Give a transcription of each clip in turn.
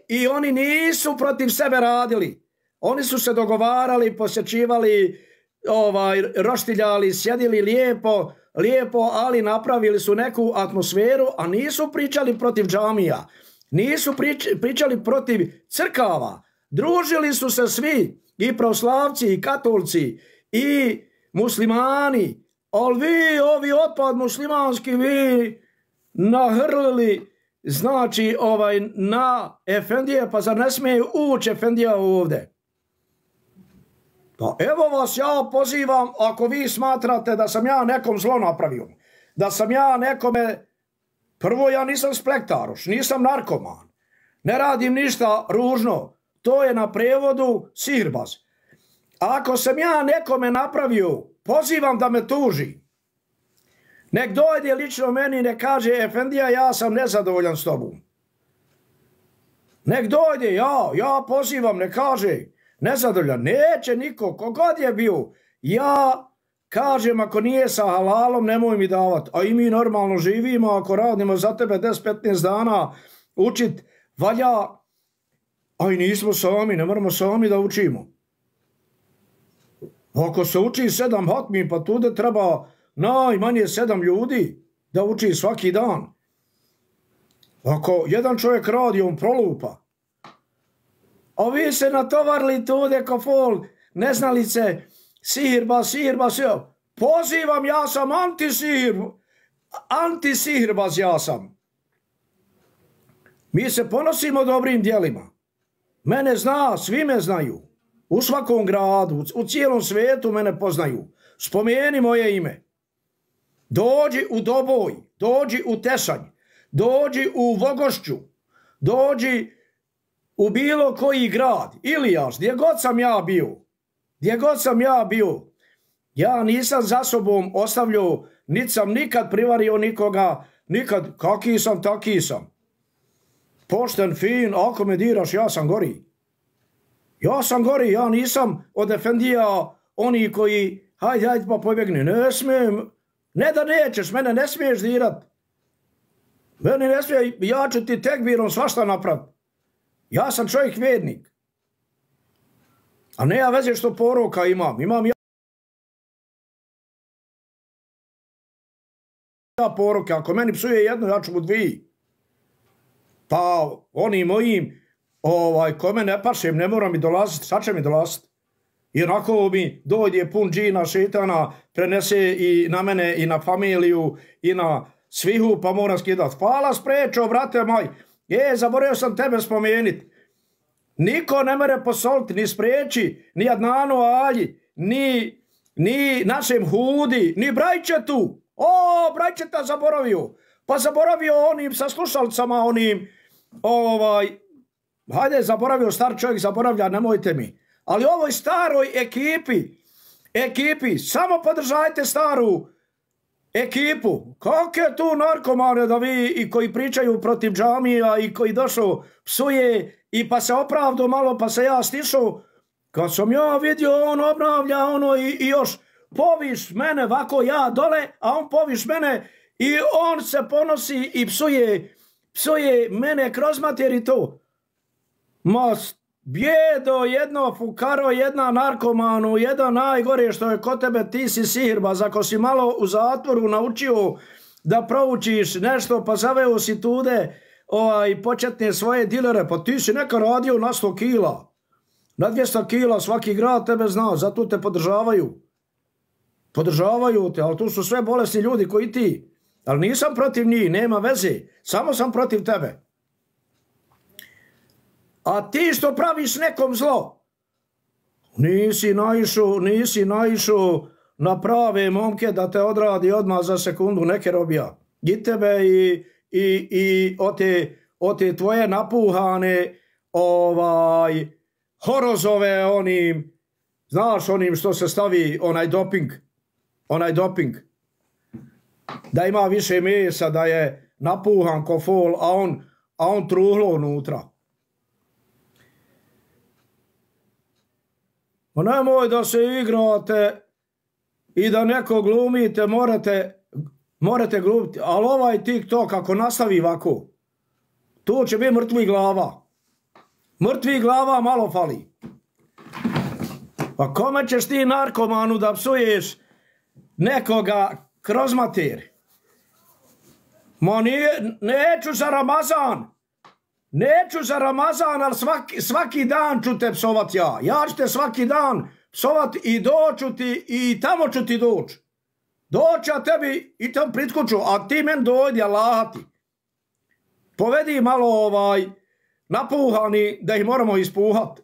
I oni nisu protiv sebe radili. Oni su se dogovarali, posjećivali, roštiljali, sjedili lijepo, ali napravili su neku atmosferu, a nisu pričali protiv džamija. Nisu pričali protiv crkava. Družili su se svi, i pravoslavci, i katolci, i muslimani. Ali vi, ovi otpad muslimanski, vi nahrlili, znači, na efendije, pa zar ne smije ući efendija ovdje? Pa evo vas ja pozivam, ako vi smatrate da sam ja nekom zlo napravio, da sam ja nekome, prvo ja nisam splektaroš, nisam narkoman, ne radim ništa ružno, to je na prevodu sihirbaz. Ako sam ja nekome napravio, pozivam da me tuži. Nek dojde lično meni i ne kaže, efendija, ja sam nezadovoljan s tobom. Nek dojde, ja pozivam, ne kaže, nezadovoljan. Neće niko, kogod je bio. Ja kažem, ako nije sa halalom, nemoj mi davati. A i mi normalno živimo, ako radimo za tebe 10-15 dana, učit valja, a i nismo sami, ne moramo sami da učimo. Ako se uči 7 hatmi, pa tude treba najmanje 7 ljudi da uči svaki dan. Ako jedan čovjek radi, on prolupa. A vi se natovarili tude ko fol, neznalice, sihirba. Pozivam, ja sam antisihirbaz ja sam. Mi se ponosimo dobrim djelima. Mene zna, svi me znaju. U svakom gradu, u cijelom svijetu mene poznaju. Spomeni moje ime. Dođi u Doboj, dođi u Tešanj, dođi u Vogošću, dođi u bilo koji grad. Ilijaš, gdje god sam ja bio, ja nisam za sobom ostavljao, niti sam nikad privario nikoga, nikad, kaki sam, taki sam. Pošten, fin, ako me diraš, ja sam gori. Ja nisam od efendija oni koji, hajde pa pobjegni, ne smijem, ne da nećeš, mene ne smiješ dirat. Mene ne smije, ja ću ti tekbirom svašta napraviti. Ja sam čovjek vjernik. A ne ja veze što poroka imam ja poroke, ako meni psuje jedno, ja ću mu 2. Pa oni mojim, ko me ne pašem, ne mora mi dolaziti, sad će mi dolaziti. I onako mi dođe pun džina, šetana, prenese i na mene, i na familiju, i na svihu, pa moram skidati. Hvala sprečo, brate moj. Zaboravio sam tebe spomenuti. Niko ne mere posoliti, ni spreči, ni Adnanu Alji, ni našem Hudi, ni Brajčetu. Brajčeta zaboravio. Pa zaboravio onim sa slušalcama, onim, hajde, zaboravio, star čovjek zaboravlja, nemojte mi. Ali ovoj staroj ekipi, samo podržajte staru ekipu. Kako je tu narkomane da vi i koji pričaju protiv džamija i koji došao psuje i pa se opravdu malo pa se ja stišao. Kad sam ja vidio on obnavlja i još poviš mene vako ja dole, a on poviš mene i on se ponosi i psuje mene kroz mater i to. Bjedo, jedno fukaro, jedna narkomanu, jedan najgore što je kod tebe, ti si sihirbaz. Ako si malo u zatvoru naučio da proučiš nešto, pa zaveo si tude početne svoje dilere, pa ti si neka radio na 100 kila. Na 200 kila svaki grad tebe zna, zato te podržavaju. Podržavaju te, ali tu su sve bolesni ljudi koji ti. Ali nisam protiv njih, nema veze, samo sam protiv tebe. A ti što praviš nekom zlo, nisi naišao na prave momke da te odradi odmah za sekundu, neke robija. I tebe i o te tvoje napuhane horozove onim, znaš onim što se stavi onaj doping. Da ima više mesa, da je napuhan ko fol, a on truhlo unutra. Nemoj da se igrate i da neko glumite, morate glumiti, ali ovaj TikTok ako nastavi ovako, Tu će biti mrtvih glava. Mrtvih glava malo fali. Pa kome ćeš ti narkomanu da psuješ nekoga kroz mater? Ma neću za Ramazan. Neću za Ramazan, ali svaki dan ću te psovat ja. Ja ću te svaki dan psovat i doću ti i tamo ću ti doći. Doći ja tebi i tam pritkuću, a ti men dojdi, Allah ti. Povedi malo napuhani da ih moramo ispuhat.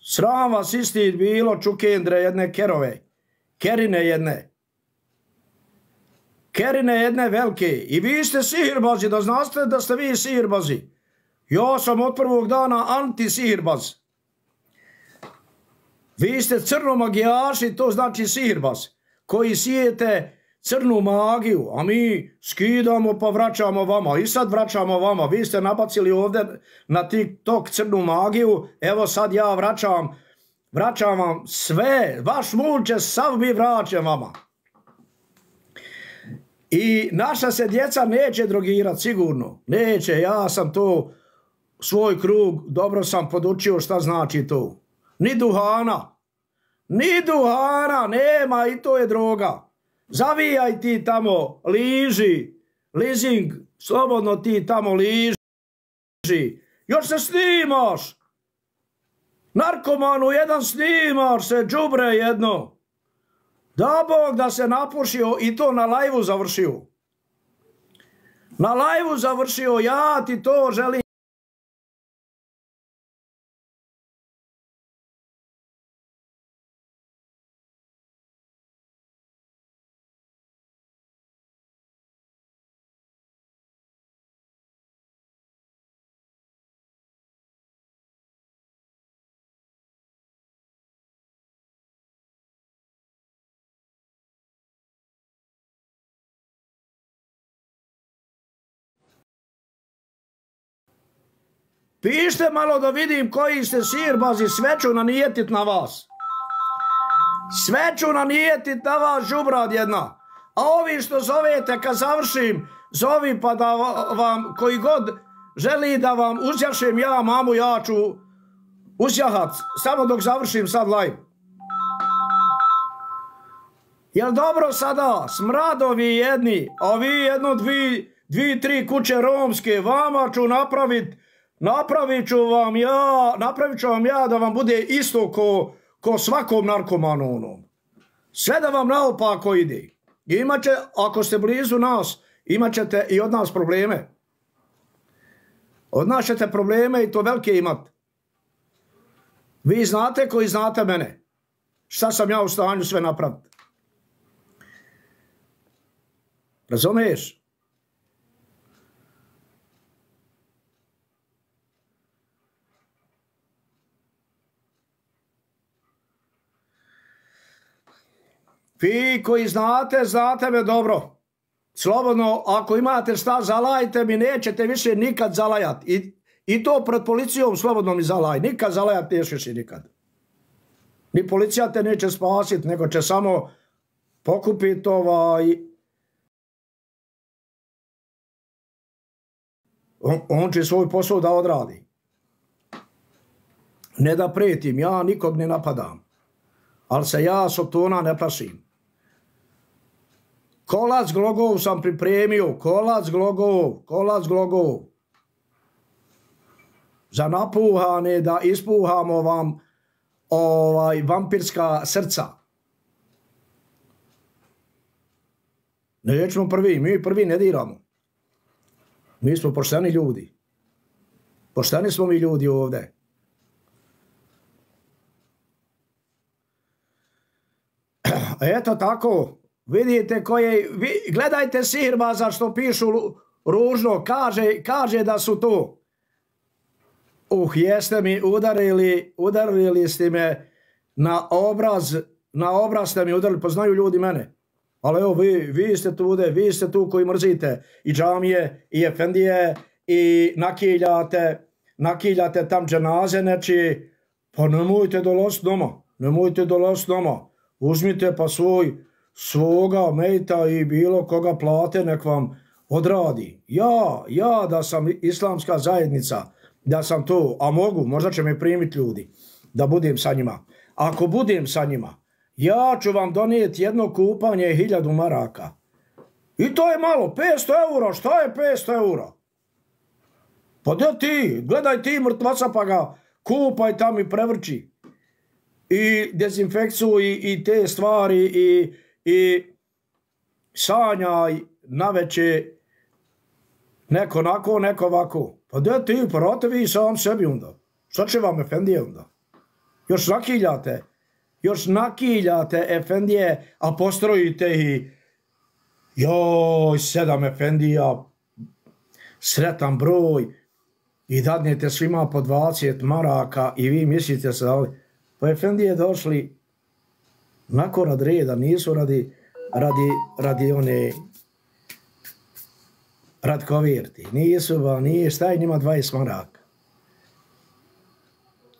Sram vas isti bilo čukendre jedne kerove. Kerine jedne. Kerine jedne velike. I vi ste sihirbazi, da znate da ste vi sihirbazi. Ja sam od prvog dana anti-sihirbaz. Vi ste crnomagijaši, to znači sihirbaz. Koji sijete crnu magiju, a mi skidamo pa vraćamo vama. I sad vraćamo vama. Vi ste nabacili ovdje na TikTok crnu magiju. Evo sad ja vraćam vam sve. Vaš mul će sav mi vraćam vama. I naša se djeca neće drogirati, sigurno. Neće, ja sam to, svoj krug, dobro sam podučio šta znači to. Ni duhana. Ni duhana, nema i to je droga. Zavijaj ti tamo, liži, leasing, slobodno ti tamo liži. Još se snimaš. Narkomanu jedan snimaš se, džubre jedno. Da Bog da se napušio i to na lajvu završio. Na lajvu završio, ja ti to želim. Pište malo da vidim koji ste sihirbazi, sve ću nanijetit na vas. Sve ću nanijetit na vas, žubrad jedna. A ovi što zovete, kad završim, zovi pa da vam, koji god želi da vam uzjašem ja, mamu, ja ću uzjahat, samo dok završim sad live. Jel dobro sada, smradovi jedni, a vi jedno, dvi, tri kuće romske, vama ću napravit ću vam ja da vam bude isto ko svakom narkomanu onom. Sve da vam naopako ide. Imaće, ako ste blizu nas, imat ćete i od nas probleme. Od nas ćete probleme i to velike imat. Vi znate koji znate mene. Šta sam ja u stanju sve napraviti. Razumiješ? Vi koji znate me dobro. Slobodno, ako imate šta, zalajte mi, nećete više nikad zalajati. I to pred policijom slobodno mi zalaj. Nikad zalajati nećeš i nikad. Ni policija te neće spasiti, nego će samo pokupiti on će svoj posao da odradi. Ne da pretim, ja nikog ne napadam. Ali se ja sotona ne plašim. Kolac glogov sam pripremio, kolac glogov. Za napuhane da ispuhamo vam vampirska srca. Nećemo prvi, mi prvi ne diramo. Mi smo pošteni ljudi. Pošteni smo mi ljudi ovdje. Eto tako, vidite gledajte sihirbaza što pišu ružno, kaže da su to. Jeste mi udarili ste me na obraz ste mi udarili, poznaju ljudi mene. Ali evo, vi ste tu koji mrzite i džamije, i efendije, i nakiljate tam dženaze neči, pa nemojte dolaziti doma. Uzmite pa svoga mejta i bilo koga plate, nek vam odradi. Ja da sam islamska zajednica, da sam to, a mogu, možda će me primiti ljudi, da budem sa njima. Ako budem sa njima, ja ću vam donijeti jedno kupanje 1000 maraka. I to je malo, 500 eura, šta je 500 eura? Pa da ti, gledaj ti mrtvaca pa ga kupaj tam i prevrči. I dezinfekciju i te stvari i sanjaj naveče neko nako, neko ovako. Pa da ti, prate vi sam sebi onda. Šta će vam efendije onda? Još nakiljate efendije, a postrojite i joj, 7 efendija, sretan broj i dadnete svima po 20 maraka i vi mislite se da pa efendije došli nako rad reda, nisu radi one rad kovirti, nisu ba, nije, šta je njima 20 maraka?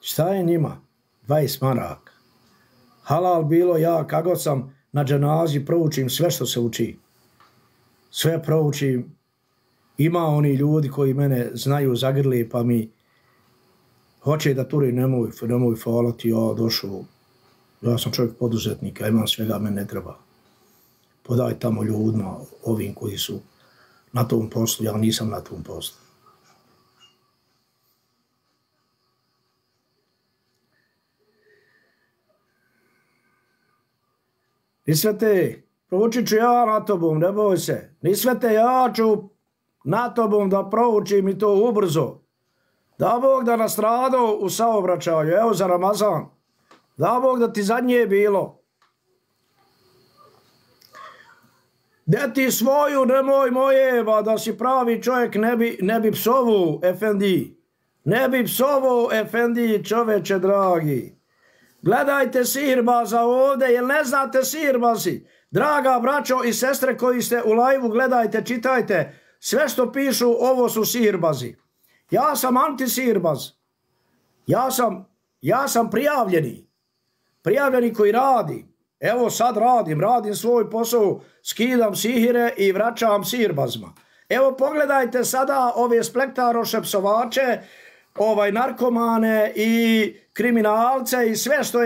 Šta je njima 20 maraka? Halal bilo ja, kako sam na dženazi proučim sve što se uči. Sve proučim. Ima oni ljudi koji mene znaju zagrli pa mi hoće da turi, nemoj falati, ja došao. Ja sam čovjek poduzetnika, imam svega, mene ne treba. Podaj tamo ljudima, ovim koji su na tom poslu, ja nisam na tom poslu. Nisvete, proučit ću ja na tobom, ne boj se. Nisvete, ja ću na tobom da proučim i to ubrzo. Da Bog da nastradao u saobraćaju, evo za Ramazan. Da Bog da ti zadnje bilo. De ti svoju, nemoj moje, ba da si pravi čovjek, ne bi psovu, efendi. Ne bi psovu, efendi, čoveče dragi. Gledajte sirbaza ovdje, jel ne znate sirbazi? Draga braćo i sestre koji ste u lajvu, gledajte, čitajte. Sve što pišu, ovo su sirbazi. Ja sam antisirbaz. Ja sam prijavljeni. Prijavljeni koji radi. Evo sad radim svoj posao, skidam sihire i vraćam sirbazma. Evo pogledajte sada ove splektaroše, psovače, narkomane i kriminalce i sve što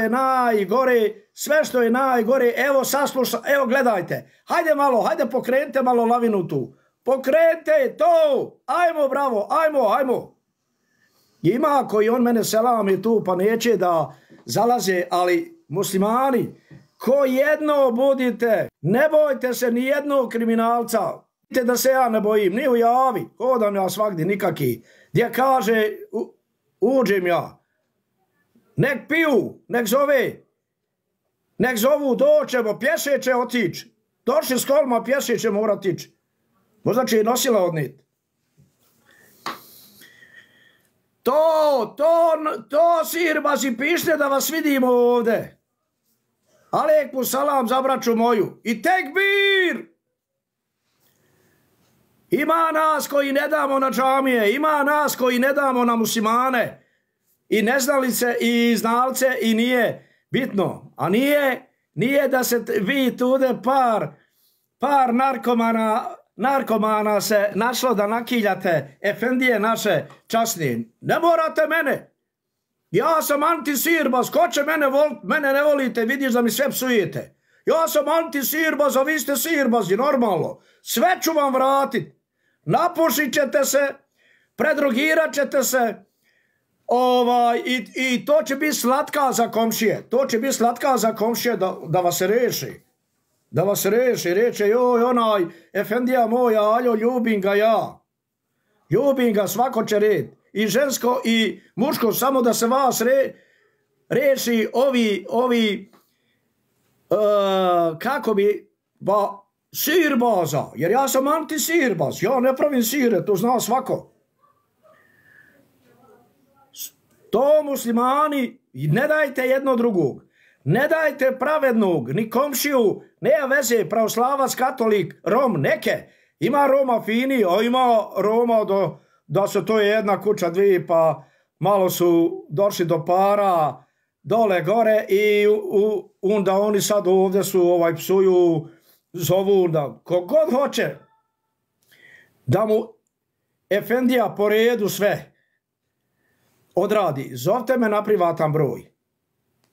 je najgore, evo sasluša, evo gledajte, hajde pokrenite malo lavinu tu, pokrenite to, ajmo bravo, ajmo. Ima koji on mene selami tu pa neće da zalaze, ali muslimani, ko jedno budite, ne bojte se ni jednog kriminalca, da se ja ne bojim, ni u javi, hodam ja svagdje nikaki, gdje kaže uđem ja, nek piju, nek zovu, doćemo, pješe će otići, došli s kolima, pješe će mora tići, možda će i nosila odniti. To sirbazi pišite da vas vidimo ovde. Alejkum salam za braću moju. I tekbir! Ima nas koji ne damo na džamije, ima nas koji ne damo na muslimane. I neznalice i znalce i nije bitno. A nije da se vi tude par narkomana se našlo da nakiljate efendije naše časnije. Ne morate mene. Ja sam antisirbaz, ko će mene voliti? Mene ne volite, vidiš da mi sve psujete. Ja sam antisirbaz, a vi ste sirbazi, normalno. Sve ću vam vratiti. Napušit ćete se, predrogirat ćete se i to će biti slatka za komšije. To će biti slatka za komšije da vas reši. Da vas reče, joj onaj efendija moja, aljo, ljubim ga ja. Ljubim ga, svako će red. I žensko i muško, samo da se vas reši kako bi, sirbaza, jer ja sam antisirbaz, ja ne pravim sire, to zna svako. To muslimani, ne dajte jedno drugog, ne dajte pravednog, ni komšiju, nema veze, pravoslavac, katolik, Rom, neke, ima Roma fini, a ima Roma da se to je jedna kuća dvije, pa malo su došli do para, dole gore i onda oni sad ovdje su psuju, zovu da kogod hoće. da mu efendija po redu sve odradi. Zovte me na privatan broj.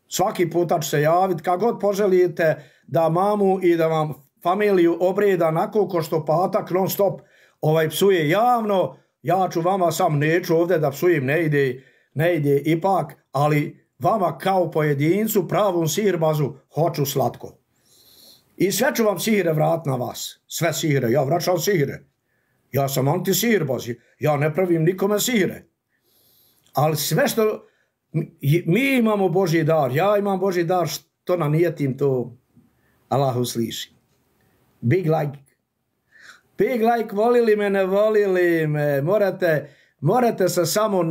Svaki puta ću se javiti, kad god poželite da mamu i da vam familiju obreda nakon ko što patak non stop psuje javno, ja ću vama sam, neću ovdje da psujem, ne ide ipak, ali vama kao pojedincu, pravom sihirbazu, hoću slatko. I sve ću vam sihire vrat na vas. Sve sihire, ja vraćam sihire. Ja sam anti-sihirbaz, ja ne pravim nikome sihire. Ali sve što mi imamo Božji dar, ja imam Božji dar, što na nijetim to Allah usliši. Big like, volili me, ne volili me, morate se samo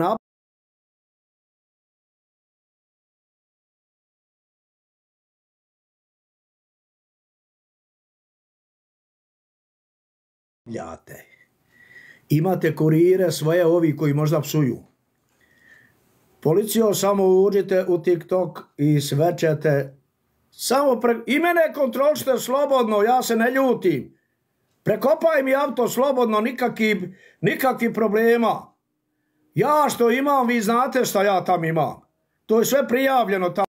napljate. Imate kurire svoje, ovi koji možda psuju. Policijo, samo uđite u TikTok i sve ćete. I mene kontrolište slobodno, ja se ne ljutim. Prekopaj mi auto slobodno, nikakvi problema. Ja što imam, vi znate šta ja tam imam. To je sve prijavljeno tamo.